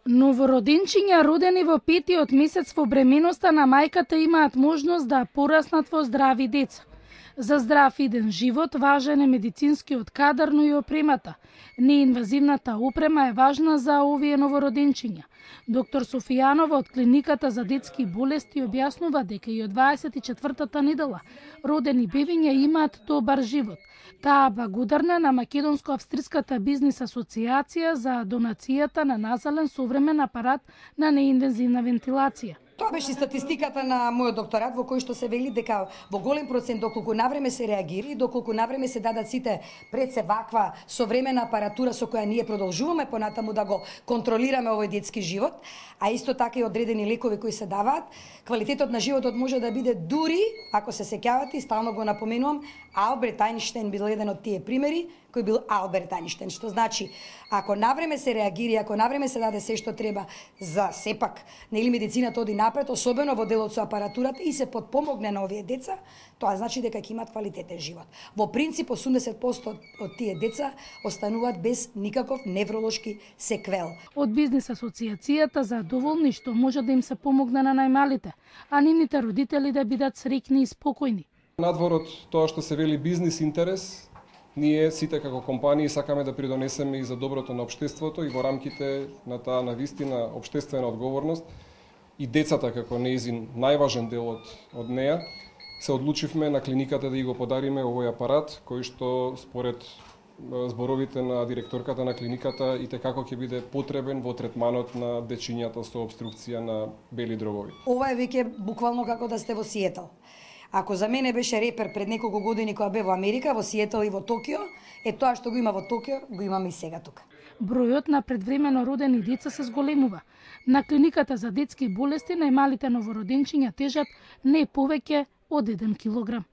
Новороденчиња родени во петиот месец во бременоста на мајката имаат можност да пораснат во здрави деца. За здрав иден живот важен е медицинскиот кадар, но и опремата. Неинвазивната опрема е важна за овие новороденчиња. Доктор Софијанова од клиниката за детски болести објаснува дека и од 24-та недела родени бебиња имаат добар живот. Таа благодарна на Македонско-австриската бизнис асоциација за донацијата на назален современ апарат на неинвазивна вентилација. Тоа беше статистиката на мојот докторат, во кој што се вели дека во голем процент, доколку навреме се реагира и доколку навреме се дадат сите пред се ваква современа апаратура со која ние продолжуваме понатаму да го контролираме овој детски живот, а исто така и одредени лекови кои се даваат, квалитетот на животот може да биде дури, ако се сеќавате, и стално го напоменувам, Алберт Ајнштајн бил еден од тие примери, кој бил Алберт Ајнштајн, што значи, ако навреме се реагира, ако навреме се даде се што треба за сепак, нели медицината оди напред, особено во делот со апаратурата и се подпомогне на овие деца, тоа значи дека ќе имаат квалитетен живот. Во принцип 80% од тие деца остануваат без никаков невролошки секвел. Од бизнис асоциацијата задоволни што може да им се помогне на најмалите, а нивните родители да бидат среќни и спокојни. Надвор од тоа што се вели бизнис интерес, ние сите како компании сакаме да придонесеме и за доброто на општеството и во рамките на таа навистина општествена одговорност и децата како неизин најважен дел од неа, се одлучивме на клиниката да ги го подариме овој апарат кој што според зборовите на директорката на клиниката и како ќе биде потребен во третманот на дечињата со обструкција на бели дробови. Ова е веќе буквално како да сте во Сиетл. Ако за мене беше репер пред неколку години кога бе во Америка, во Сиетл и во Токио, тоа што го има во Токио, го имаме и сега тука. Бројот на предвремено родени деца се зголемува. На клиниката за детски болести најмалите новороденчиња тежат не повеќе од 1 килограм.